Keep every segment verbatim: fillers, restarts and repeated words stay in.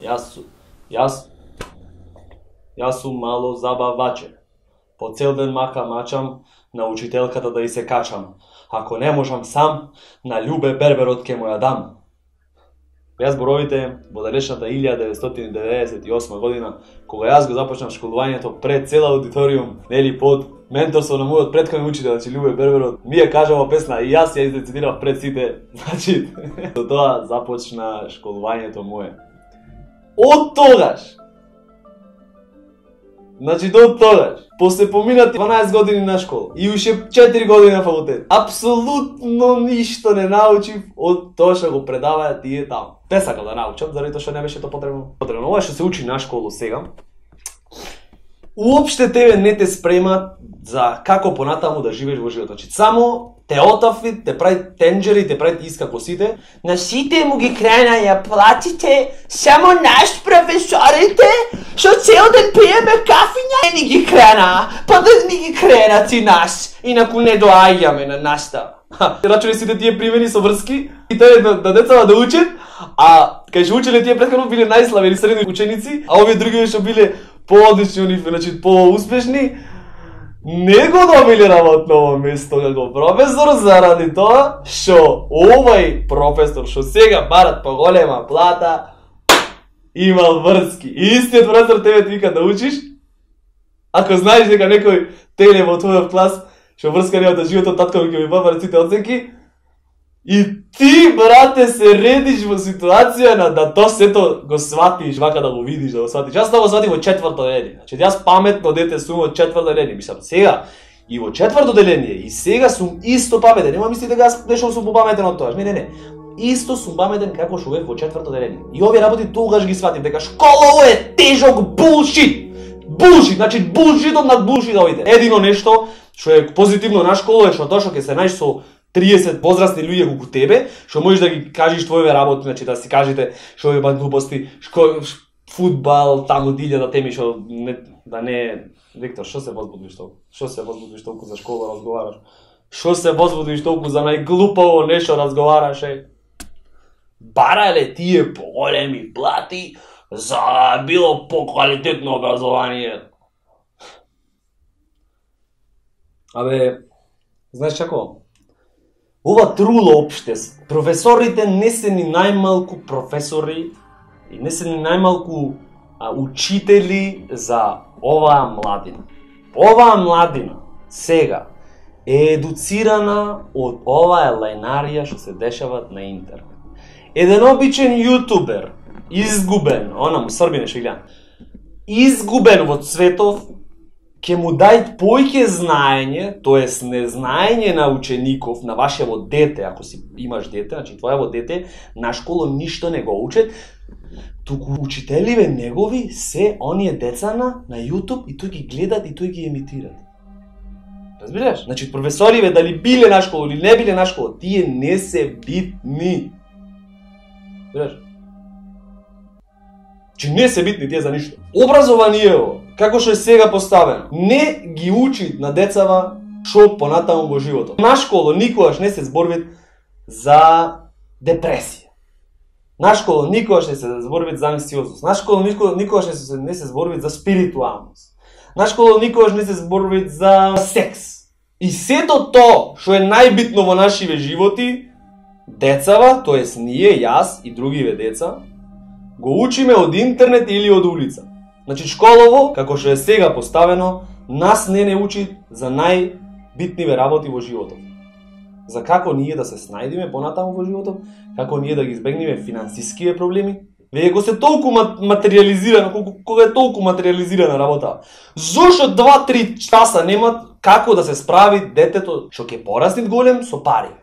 Јас сум, јас, јас сум мало забаваче. По цел ден мака мачам на учителката да и се качам. Ако не можам сам, на Љубе Берберот ке му ја дам. Јас зборовите во далечната илјада деветстотини деветдесет и осма година, кога јас го започнав школувањето пред цела аудиториум, нели под менторство на мојот претходен учител, значи Љубе Берберот, ми ја кажа ова песна и јас ја издецидирав пред сите. Значи, до тоа започна школувањето мое. Од тогаш, значи до тогаш, после поминати дванаесет години на школа и уште четири години на факултет, апсолутно ништо не научив од тоа што го предаваја тие таму. Не сакав да научам, заради тоа што не беше тоа потребно. Потребно ова што се учи на школу сега, уопште тебе не те спремат за како понатаму да живееш во животот. Значи, само те отафи, те прави тенџери, те прави иска косите. На сите му ги крена ја платите, само наш професорите, што цел ден пиеме кафиња, не ни ги крена, па да ни ги крена ти нас, инаку не доаѓаме на настава. Рачуни сите тие примени со врски и тие да, да децата да учат, а кај што учеле тие претходно биле најслабени средни ученици, а овие други што биле по-одлични, значи по-успешни, не го добиле работно место како професор заради тоа што овај професор што сега барат поголема плата имал врски. И истиот професор тебе ти вика да учиш, ако знаеш дека некој теле во твојот клас што врска нема да животот, татко ќе ми баба сите оценки, и ти, брате, се редиш во ситуација на да то сето го сватиш, вака да го видиш, да го сватиш. Јас тоа го сватив во четврто деление. Значи, јас паметно дете сум во четврто деление. Мислам, сега и во четврто деление, и сега сум исто паметен. Нема мисли дека јас нешто сум попаметен од тоа. Не, не, не. Исто сум паметен како што бев во четврто деление. И овие работи тогаш ги сватив, дека школа е тежок булшит. Булшит, значи булшитот над булшит овите. Едино нешто што е позитивно на школа е што тоа што ќе се најдеш со триесет возрастни луѓе колку тебе, што можеш да ги кажеш твоите работи, значи да си кажете што е бат глупости, шко, фудбал, таму илјада теми што не, да не... Виктор, што се возбудиш толку? Што се возбудиш толку за школа разговараш? Што се возбудиш толку за најглупаво нешто разговараш, е? Барале тие поголеми плати за било поквалитетно образование. Абе, знаеш како? Ова труло општество. Професорите не се ни најмалку професори и не се ни најмалку а, учители за оваа младина. Оваа младина сега е едуцирана од оваа лајнарија што се дешава на интернет. Еден обичен јутубер, изгубен, она му србине што гледам, изгубен во цветов, ќе му дај поиќе знаење, тоест незнаење на учеников, на вашево дете, ако си имаш дете, значи твојаво дете, на школа ништо не го учат, туку учителиве негови се оние деца на, на YouTube и тој ги гледат и тој ги емитират. Разбираш? Значи професориве дали биле на школа или не биле на школа, тие не се битни. Разбираш? Че не се битни тие за ништо. Образованието, како што е сега поставено, не ги учи на децава што понатаму во животот. На школа никогаш не се зборвит за депресија. На школа никогаш не се зборвит за анксиозност. На школа никогаш не се, не се зборвит за спиритуалност. На школа никогаш не се зборвит за секс. И сето тоа што е најбитно во нашиве животи, децава, тоест ние, јас и другиве деца, го учиме од интернет или од улица. Значи школово, како што е сега поставено, нас не не учи за најбитниве работи во животот. За како ние да се снајдиме понатаму во животот, како ние да ги избегнеме финансискиве проблеми. Веќе го се толку материализирано, кога е толку материализирана работа. Зошто два-три часа немат како да се справи детето што ќе порасне голем со пари?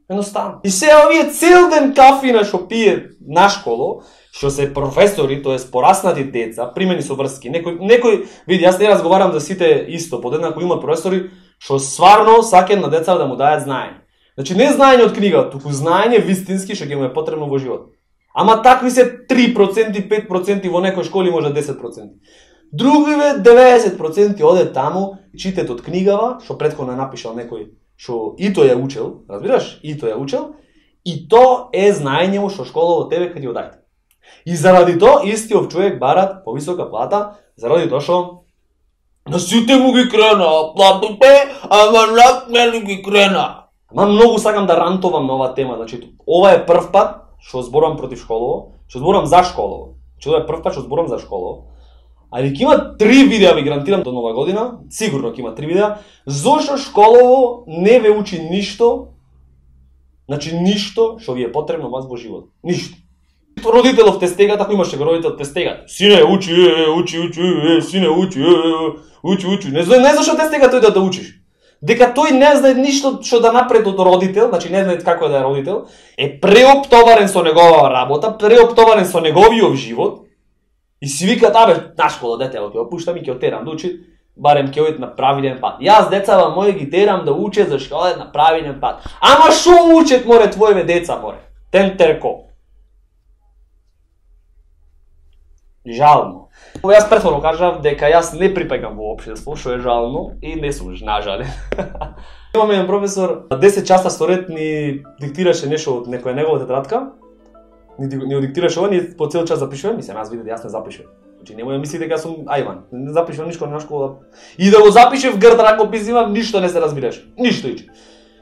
Едноставно. И се овие цел ден кафина што пие на школо, што се професори, тоест пораснати деца, примени со врски. Некој, некој, види, јас не разговарам за сите исто, подеднако има професори што сварно саќаат на деца да му дајат знаење. Значи не знаење од книга, туку знаење вистински што ќе му е потребно во живот. Ама такви се три проценти, пет проценти, во некој школи може десет проценти. Другиве деветдесет проценти оде таму, читат од книгава, што претходно е напишал некој што и тој ја учел, разбираш, и тој ја учел, и то е знаење што школа во тебе ќе ти го даде. И заради тоа истиот човек барат повисока плата, заради тоа што на сите му ги крена платите, ама на мене ги крена. Ама многу сакам да рантовам на оваа тема, значи ова е прв пат што зборам против школово, што зборам за школово. Значи ова е прв пат што зборам за школово. Али ќе има три видеа, ви гарантирам, до нова година, сигурно ќе има три видеа, зошто школово не ве учи ништо, значи ништо што ви е потребно вас во живот. Ништо. Родителов те стегат, ако имаше го родител те стегат. Сине, учи, е, учи, учи, е, сине, учи, е, учи, учи. Не знае, не зашо те стегат тој да, да учиш. Дека тој не знае ништо што да направи од родител, значи не знае како да е родител, е преоптоварен со негова работа, преоптоварен со неговиот живот. И си викат, абе, на школа дете, ќе го пуштам и ќе отерам да учи, барем ќе одат на правилен пат. Јас децава мои ги терам да учат за школа на правилен пат. Ама шо учат море твоеве деца море? Тен терко. Жално. Јас претходно кажав дека јас не припаѓам во општество, што е жално и не сум нажален. Имаме еден професор, десет часа соред ни диктираше нешто од некоја негова тетрадка. Ни, ни диктираше ова, ние по цел час запишуваме, мислам, аз видите, јас не запишувам. Значи немој да мислите дека сум ајван, не запишувам ништо на школа. И да го запишев грд ракопис имам, ништо не се разбираш. Ништо иче.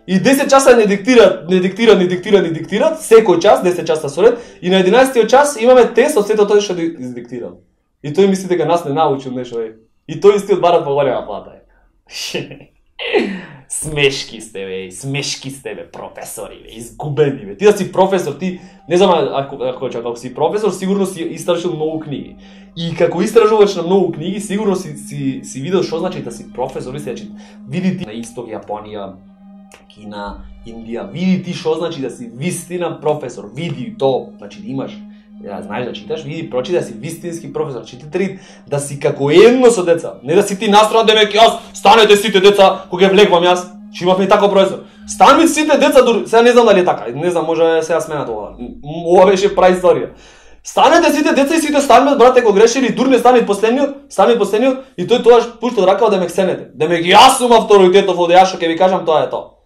И десет часа не диктират, не диктират, не диктират, не диктират, секој час, десет часа соред, и на единаесеттиот час имаме тест од сето тоа што издиктирал. И тој мисли дека нас не научил нешто е. И тој истиот барат поголема плата е. Смешки сте бе, смешки сте бе, професори бе, изгубени бе. Ти да си професор, ти не знам ако ако ако си професор, сигурно си истражил многу книги. И како истражувач на многу книги, сигурно си си си видел што значи да си професор, значи види ти на исток Јапонија, Кина, Индија, види ти што значи да си вистина професор, види то, значи да имаш, да знаеш да читаш, види прочита да си вистински професор, чити три да си како едно со деца, не да си ти настроен демек јас, станете сите деца кога ќе влегвам јас, че имавме тако професор. Станете сите деца, дури, сега не знам дали е така, не знам, може сега сменат ова. Ова беше праисторија. Станете сите деца и сите станете, брате, кога грешили, дур не стане последниот, стане последниот и тој тоаш пушта ракава да ме ксенете. Демек јас сум авторитетов од јас што ќе ви кажам тоа е тоа.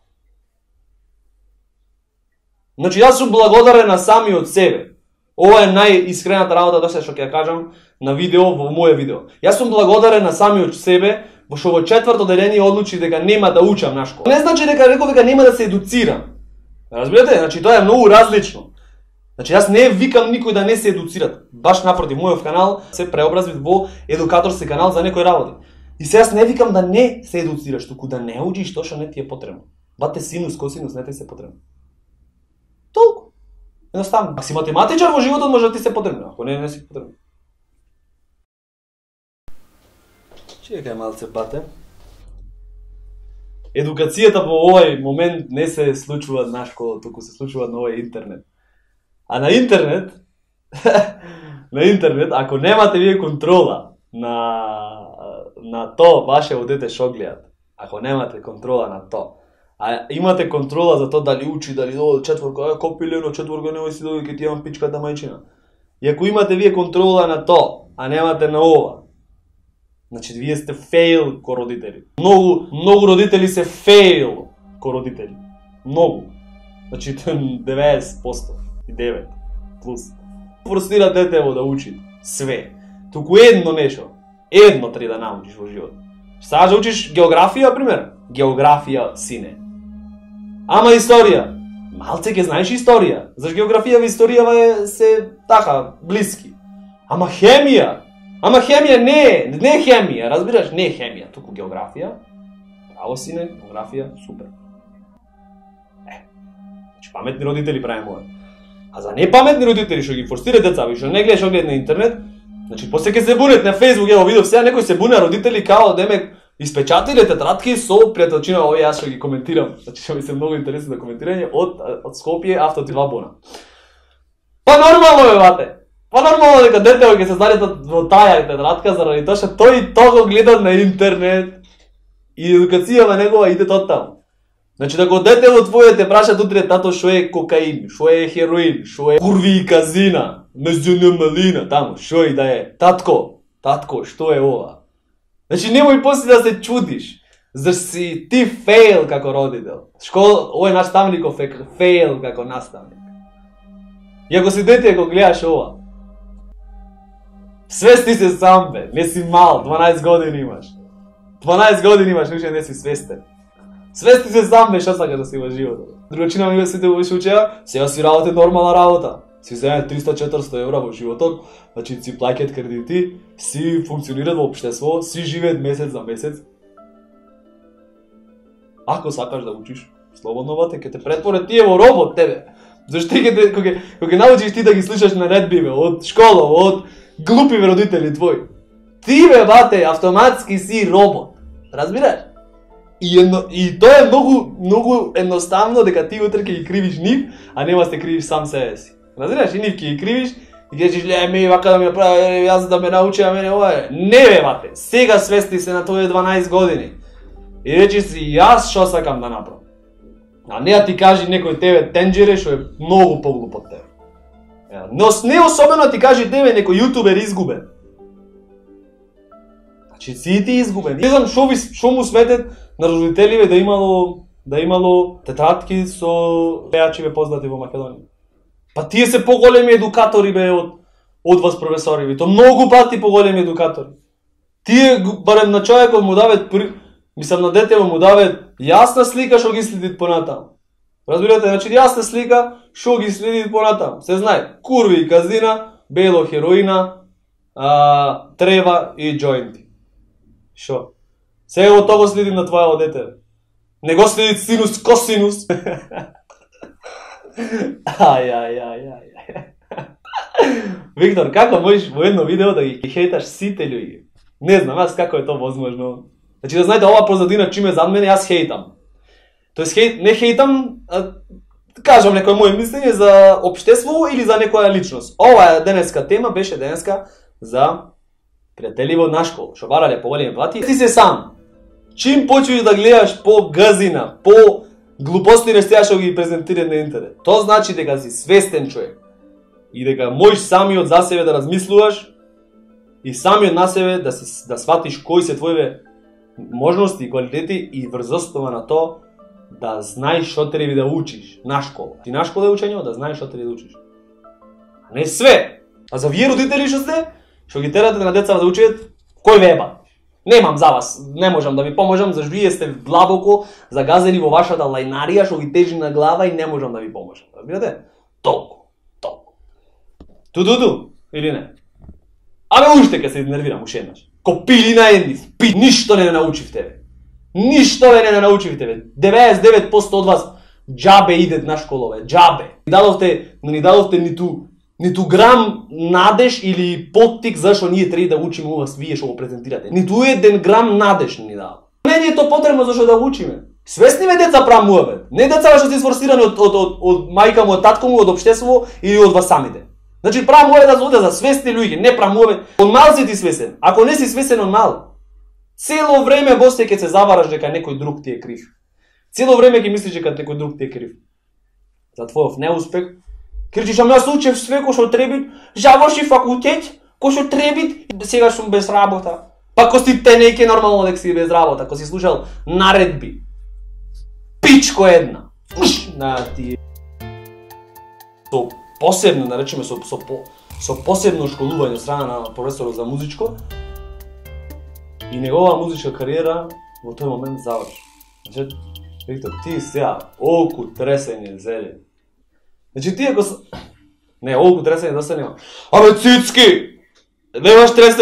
Значи јас сум благодарен на самиот себе. Ова е најискрената работа до сега што ќе ја кажам на видео, во моје видео. Јас сум благодарен на самиот себе, што во четврто деление одлучи дека нема да учам на школа. Не значи дека реков дека нема да се едуцирам. Разбирате? Значи тоа е многу различно. Значи јас не викам никој да не се едуцира. Баш напротив, мојот канал се преобразви во едукаторски канал за некои работи. И се јас не викам да не се едуцираш, туку да не учиш тоа што не ти е потребно. Бате синус, косинус не ти се потребно. Толку. Едноставно. Ако си математичар во животот може да ти се потребно, ако не, не си потребно. Чекај малце, бате. Едукацијата во овој момент не се случува на школа, туку се случува на овој интернет. А на интернет, на интернет, ако немате вие контрола на на тоа вашето дете што гледат, ако немате контрола на тоа, а имате контрола за тоа дали учи, дали дојде четворка, а копилено четворка, немој си дојде ќе ти имам пичката мајчина. И ако имате вие контрола на тоа, а немате на ова, значи вие сте фейл ко родители. Многу, многу родители се фейл ко родители. Многу. Значи деветдесет и девет плюс. Простира детево да учи све. Туку едно нешто. Едно треба да научиш во живот. Сакаш да учиш географија, пример? Географија, сине. Ама историја. Малце ќе знаеш историја. Заш географија и историјава е се така блиски. Ама хемија. Ама хемија не, не хемија, разбираш, не хемија, туку географија. Право сине, географија, супер. Е, значи паметни родители правиме ова. А за непаметни родители што ги форсира деца, што не гледаш, што гледат на интернет, значи после ќе се бунет на Facebook, ево видов сега некој се буне родители као демек испечатиле тетрадки со пријателчина, овој јас што ги коментирам. Значи што ми се многу интересно да коментирање од од Скопје авто два бона. Па нормално бе, бате. Па нормално дека детето ќе се зареда во таа тетрадка заради тоа што тој тоа го гледа на интернет и едукацијава негова иде тоа таму. Значи ако детето твое те праша утре тато што е кокаин, што е хероин, што е курви и казина, мезуна малина, таму што и да е. Татко, татко, што е ова? Значи немој после да се чудиш. Зашто си ти фейл како родител. Школа, овој наставников е фейл како наставник. И ако си дете го гледаш ова, Свести се сам, бе. Не си мал, дванаесет години имаш. дванаесет години имаш, уште не си свестен. Свести се сам, бе, што сакаш да си во животот. Другачина ми сите го учеа, сега си работи нормална работа. Си земе триста до четиристо евра во животот, значи си плаќаат кредити, си функционираат во општество, си живеат месец за месец. Ако сакаш да учиш, слободно бате, ќе те претворат тие во робот тебе. Зашто ќе те кога кога научиш ти да ги слушаш наредби бе, од школа, од глупи родители твои. Ти бе бате, автоматски си робот. Разбираш? И, едно, и тоа е многу многу едноставно дека ти утре ќе ги кривиш нив, а нема се кривиш сам себе си. Разбираш? И нив ќе ги кривиш и ќе кажеш ле ми вака да ми направи, јас да ме научи, а мене ова. Не бе бате, сега свести се на твои дванаесет години. И речи си јас што сакам да направам. А не да ти кажи некој тебе тенџере што е многу поглуп од тебе. Но не особено ти кажи тебе некој јутубер изгубен. Значи си ти изгубен. Не знам што ви што му сметет на родителиве да имало да имало тетрадки со пејачи познати во Македонија. Па тие се поголеми едукатори бе од од вас професори, то многу пати поголеми едукатори. Тие барем на човекот му дават мислам на детево му дават јасна слика што ги следи понатаму. Разбирате, значи јасна слика што ги следи понатаму. Се знае, курви и казина, бело хероина, а, трева и џоинти. Шо? Сега од тоа го следим на твоето дете. Не го следи синус косинус. Ај, ај, ај, ај. Виктор, како можеш во едно видео да ги хейташ сите луѓе? Не знам, аз како е тоа возможно. Значи да знаете, ова позадина чим е зад мене, јас хейтам. Тоест хейт, не хейтам, а, кажам некој моје мислење за општество или за некоја личност. Ова е денеска тема, беше денеска за пријатели во наш школа, што барале поголеми плати. Ти се сам. Чим почнеш да гледаш по газина, по глупости нешта што ги презентира на интернет, тоа значи дека си свестен човек и дека можеш самиот за себе да размислуваш и самиот на себе да си да сватиш кои се твоите можности и квалитети и врз основа на тоа да знаеш што треба да учиш на школа. Ти на школа е учење да знаеш што треба да учиш. А не све. А за вие родители што сте, што ги терате на деца да учат, кој веба? Немам за вас, не можам да ви поможам, зашто вие сте длабоко загазени во вашата лајнарија што ги тежи на глава и не можам да ви поможам. Разбирате? Толку, толку. Ту-ду-ду, или не? Абе уште ке се изнервирам уште еднаш. Ко пили на едни, пи, ништо не научив тебе. Ништо не не научив тебе. деветдесет и девет проценти од вас џабе идет на школове, џабе. Ни дадовте, ни дадовте ниту ниту грам надеж или поттик зашо ние треба да учиме ова вие што го презентирате. Ниту еден грам надеж ни дава. Не ни е тоа потребно зашо да учиме. Свесни ме деца прамуваме. Не деца што се изфорсирани од од од, од мајка му, од татко му, од општество или од вас самите. Значи прамуваме да оде за свесни луѓе, не прамуваме. Од мал си ти свесен. Ако не си свесен од мал, цело време босте ќе се завараш дека некој друг ти е крив. Цело време ќе мислиш дека некој друг ти е крив. За твојов неуспех. Кричиш, ама јас учев све кој што треби, заврши факултет, кој што треби, сега сум без работа. Па ко си те неќе нормално дека си без работа, ко си слушал наредби. Пичко една. На ти со посебно, наречеме со со со посебно школување страна на професорот за музичко. И негова музичка кариера во тој момент заврши. Значи, Виктор, ти сега олку тресење зеле. Значи ти ако... Не, олку тресење доста нема. Абе, цицки! Немаш тресење